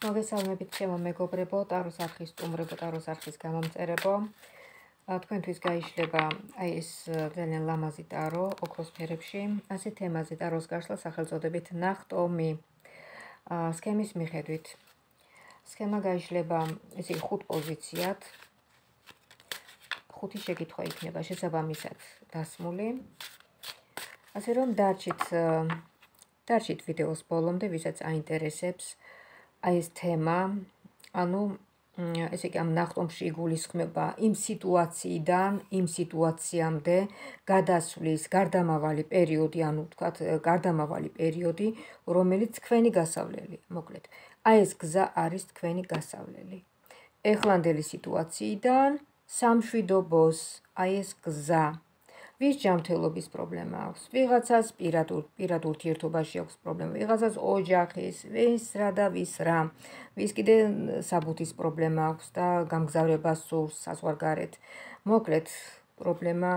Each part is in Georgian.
მოგესალმებით ჩემო მეგობრებო, ტაროს არხის სტუმრებო, ტაროს არხის გამომწერებო. თქვენთვის გაიშლება ეს ძალიან ლამაზი ტარო ოქროს ფერებში. ასე თემაზე ტაროს გაშლა სახელწოდებით ნახტომი. სქემის მიხედვით. სქემა გაიშლება ესე 5 პოზიციად. 5 შეკითხვა იქნება შესაბამისად დასმული. ასე რომ დარჩით ვიდეოს ბოლომდე, ვისაც აინტერესებს აი ეს თემა, ანუ ესე იგი ამ ნახტომში იგულისხმება იმ სიტუაციიდან, იმ სიტუაციამდე გადასვლის გარდამავალი პერიოდი, ანუ ვთქვათ, გარდამავალი პერიოდი, რომელიც თქვენი გასავლელი, მოკლედ. აი ეს გზა არის თქვენი გასავლელი. ეხლანდელი სიტუაციიდან სამშვიდობოს, აი ეს გზა. ვის ჯანმრთელობის პრობლემა აქვს? ვიღაცას პირად ურთიერთობაში აქვს პრობლემა, ვიღაცას ოჯახის, ვის რა და ვის რა. ვის კიდე საბუთის პრობლემა აქვს და გამგზავრება სურს საზღვარგარეთ. მოკლედ, პრობლემა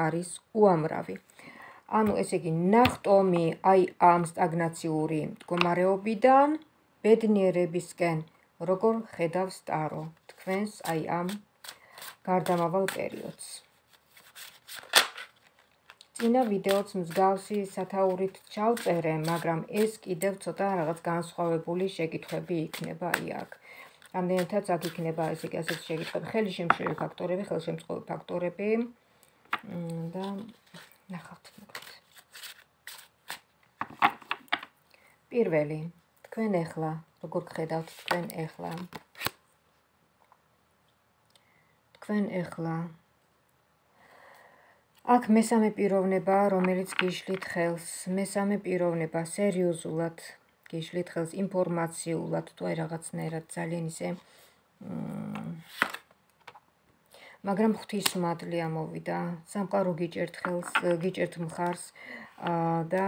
არის უამრავი. ანუ ესე იგი, ნახტომი აი ამ სტაგნაციური მდგომარეობიდან ბედნიერებისკენ, როგორ ხედავს ტარო თქვენს აი ამ გარდამავალ პერიოდს. წინა ვიდეოც მსგავსი სათაურით ჩავწერე, მაგრამ ეს კიდევ ცოტა რაღაც განსხვავებული შეკითხვები იქნება აქ. რამდენადაც აქ იქნება ესე იგი ასეთი შეკითხვები, ხელშემშლელი ფაქტორები და ნახავთ მოკლედ. პირველი, თქვენ ეხლა, როგორ გხედავთ თქვენ ეხლა? აქ მესამე პიროვნება, რომელიც გიშლით ხელს, მესამე პიროვნება სერიოზულად გიშლით ხელს, ინფორმაციულად, თუ აი რაღაცნაირად ძალიან ისე მაგრამ ღვთისმადლი ამოვიდა, სამყარო გიჭერთ ხელს, გიჭერთ მხარს და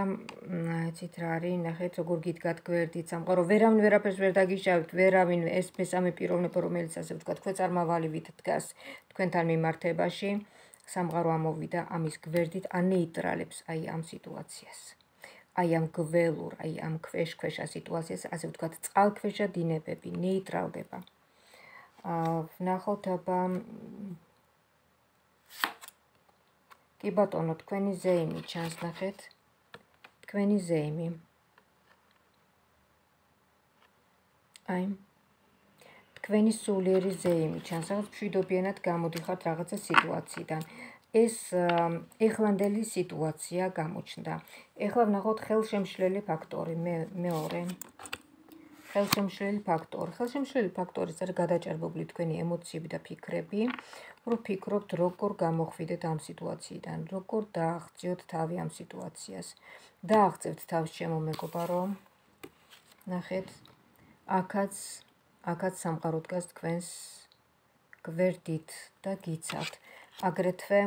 იცით რა არის, ნახეთ როგორ გიდგათ გვერდით, სამყარო ვერავინ ვერაფერს ვერ დაგიშავებთ, ვერავინ ეს მესამე პიროვნება, რომელიც ასე ვთქვათ, ქვეწარმავალივით დგას თქვენთან მიმართებაში. სამყარო ამოვიდა ამის გვერდით, ანეიტრალებს აი ამ სიტუაციას. აი ამ გველურ, აი ამ ქვეშ-ქვეშა სიტუაციას, ასე ვთქვათ, წყალქვეშა დინებები ნეიტრალდება. ვნახოთ აბა კი ბატონო, თქვენი ზეიმი ჩანს, ნახეთ. თქვენი ზეიმი. აი თქვენი სულიერი ზეიმი ჩანს, რაღაც მშვიდობიანად გამოდიხართ რაღაცა სიტუაციიდან. ეს ეხლანდელი სიტუაცია გამოჩნდა. ეხლა ვნახოთ ხელშემშლელი ფაქტორი, მეორე. ხელშემშლელი ფაქტორი. ხელშემშლელი ფაქტორის არის გადაჭარბებული თქვენი ემოციები და ფიქრები, რომ ფიქრობთ როგორ გამოხვიდეთ ამ სიტუაციიდან, როგორ დააღწიოთ თავი ამ სიტუაციას. დააღწევთ თავს ჩემო მეგობარო. ნახეთ, აქაც სამყარო დგას თქვენს გვერდით და გიცავთ. აგრეთვე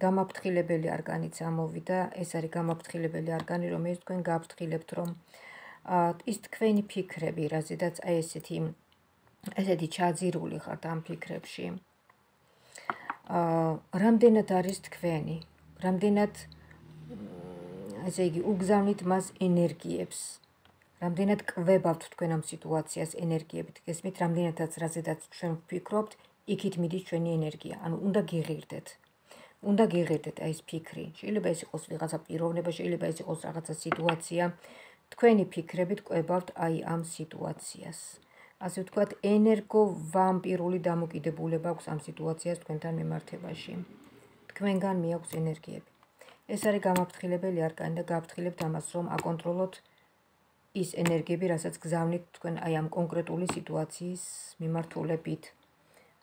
გამაფრთხილებელი არგანიც ამოვიდა, ეს არის გამაფრთხილებელი არგანი, რომელიც თქვენ გაფრთხილებთ, რომ ის თქვენი ფიქრები, რაზედაც აი ესეთი ჩაძირული ხართ ამ ფიქრებში. რამდენად არის თქვენი, რამდენად ესე იგი უგზავნით მას ენერგიებს. რამდენად კვებავთ თქვენ ამ სიტუაციას ენერგიებით, გესმით, რამდენადაც რაზედაც ჩვენ ვფიქრობთ, იქით მიდის ჩვენი ენერგია, ანუ უნდა გიღირდეთ. უნდა გიღირდეთ აი ეს ფიქრი. შეიძლება ეს იყოს ვიღაცა პიროვნება, შეიძლება ეს იყოს რაღაცა სიტუაცია. თქვენი ფიქრებით კვებავთ აი ამ სიტუაციას. ასე ვთქვათ, ენერგოვამპირული დამოკიდებულება აქვს ამ სიტუაციას თქვენთან მიმართებაში. თქვენგან მიაქვს ენერგიები. ეს არის გამაფრთხილებელი არკანი და გააფრთხილებთ ამას, რომ აკონტროლოთ ის ენერგიები, რასაც გზავნით თქვენ აი ამ კონკრეტული სიტუაციის მიმართულებით.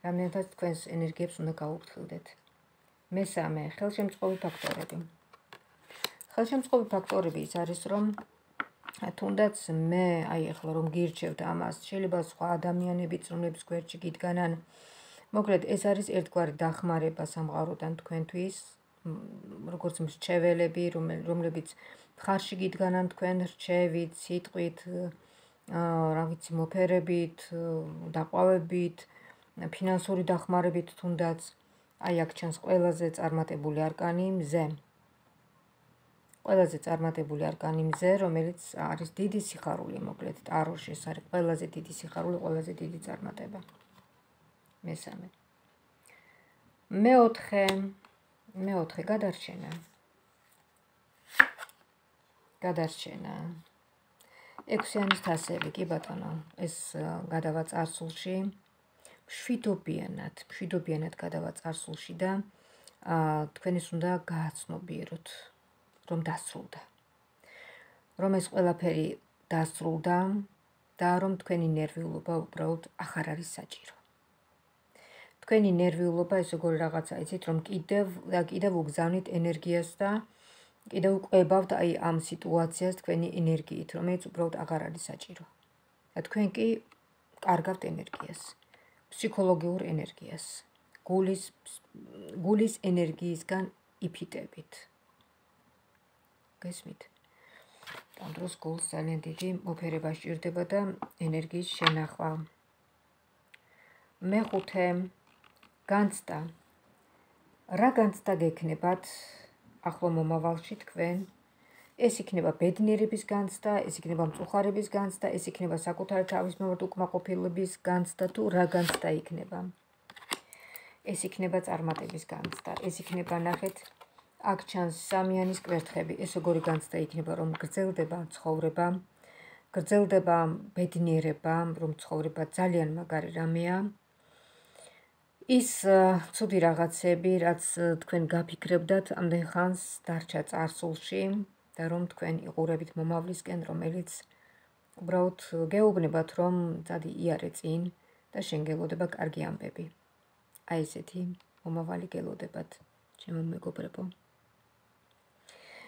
რამდენადაც თქვენს ენერგიებს უნდა გაუფრთხილდეთ. მესამე, ხელშემწყობი ფაქტორები. ხელშემწყობი ფაქტორები ის არის, რომ თუნდაც მე აი ახლა რომ გირჩევთ ამას, შეიძლება სხვა ადამიანებიც, რომლებიც გვერდში გიდგანან. მოკლედ, ეს არის ერთგვარი დახმარება სამყაროდან თქვენთვის, როგორც მრჩეველები, რომლებიც მხარში გიდგანან თქვენ რჩევით, სიტყვით, რა ვიცი, მოფერებით, დაყვავებით, ფინანსური დახმარებით თუნდაც. აი აქ ჩანს ყველაზე წარმატებული არკანი, მზე. ყველაზე წარმატებული არკანი მზე, რომელიც არის დიდი სიხარული, მოკლედ ტაროში ეს არის ყველაზე დიდი სიხარული, ყველაზე დიდი წარმატება. მესამე. მეოთხე გადარჩენა. ექვსიანის თასები, კი ბატონო, ეს გადავა წარსულში. მშვიდობიანად გადავა წარსულში და თქვენ ის უნდა გააცნობიეროთ, რომ დასრულდა. რომ ეს ყველაფერი დასრულდა და რომ თქვენი ნერვიულობა უბრალოდ აღარ არის საჭირო. თქვენი ნერვიულობა ეს როგორი რაღაცა იცით, რომ კიდევ უგზავნით ენერგიას და კიდევ ყვებავთ ამ სიტუაციას თქვენი ენერგიით, რომელიც უბრალოდ აღარ არის საჭირო. და თქვენ კი კარგავთ ენერგიას, ფსიქოლოგიურ ენერგიას, გულის ენერგიისგან იფიტებით. გესმით? ამ დროს გულს ძალიან დიდი მოფერება სჭირდება და ენერგიის შენახვა. მეხუთე, განცდა. რა განცდა გექნებათ ახლო მომავალში თქვენ? ეს იქნება ბედნიერების განცდა, ეს იქნება მწუხარების განცდა, ეს იქნება საკუთარი თავის მიმართ უკმაყოფილების განცდა თუ რა განცდა იქნება? ეს იქნება წარმატების განცდა, ეს იქნება ნახეთ, აქ ჩანს სამიანის კვერთხები, ეს როგორი განცდა იქნება, რომ გრძელდება ცხოვრება, გრძელდება ბედნიერება, რომ ცხოვრება ძალიან მაგარი რამეა. ის ცუდი რაღაცები, რაც თქვენ გაფიქრებდათ, ამდენ ხანს დარჩა წარსულში და რომ თქვენ იყურებით მომავლისკენ, რომელიც უბრალოდ გეუბნებათ, რომ წადი იარე წინ და შენ გელოდება კარგი ამბები. აი ესეთი მომავალი გელოდებათ, ჩემო მეგობრებო.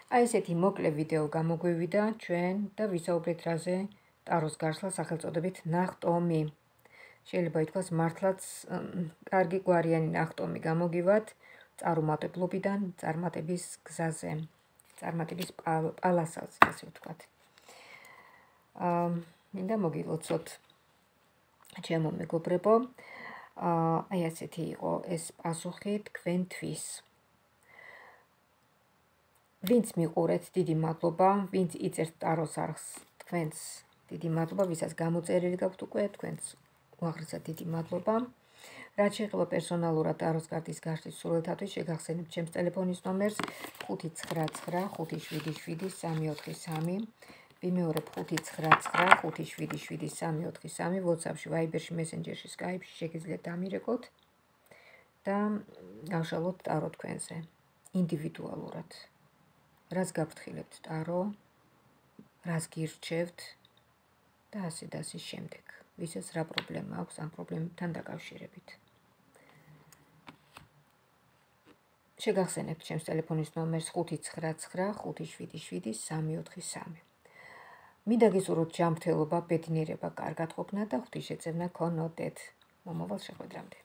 აი ესეთი მოკლე ვიდეო გამოგვივიდა ჩვენ და ვისაუბრეთ რაზე ტაროს გარსლა სახელწოდებით ნახტომი. შეიძლება ითქვას მართლაც კარგი გვარიანი ნახტომი გამოგივათ წარუმატებლობიდან წარმატების გზაზე, წარმატების პალასაზე, ასე ვთქვათ. მინდა მოგილოცოთ ჩემო მეგობრებო. აი ასეთი იყო ეს პასუხი თქვენთვის. ვინც მიყურეთ, დიდი მადლობა, ვინც იწერთ ტაროს არხს, თქვენს დიდი მადლობა, ვისაც გამოწერილი გაქვთ უკვე, თქვენს უაღრესად დიდი მადლობა. რაც შეეხება პერსონალურად ტაროს კარტის გაშლის სურვილთათვის, შეგახსენებთ ჩემს ტელეფონის ნომერს 599737343, ვიმეორებ 599577343, WhatsApp-ში, Viber-ში, Messenger-ში, Skype-ში შეგიძლიათ დამირეკოთ და გავშალოთ ტარო თქვენზე ინდივიდუალურად. რას გაფრთხილებთ ტარო, რას გირჩევთ და ასე და ასე შემდეგ. ვისაც რა პრობლემა აქვს ამ პრობლემებთან დაკავშირებით. შეგახსენებთ ჩემს ტელეფონის ნომერს 599577343. მინდა გისურვოთ ჯანმრთელობა, ბედნიერება, კარგად ყოფნა და ღვთისმშეწევნა გქონოდეთ. მომავალ შეხვედრამდე.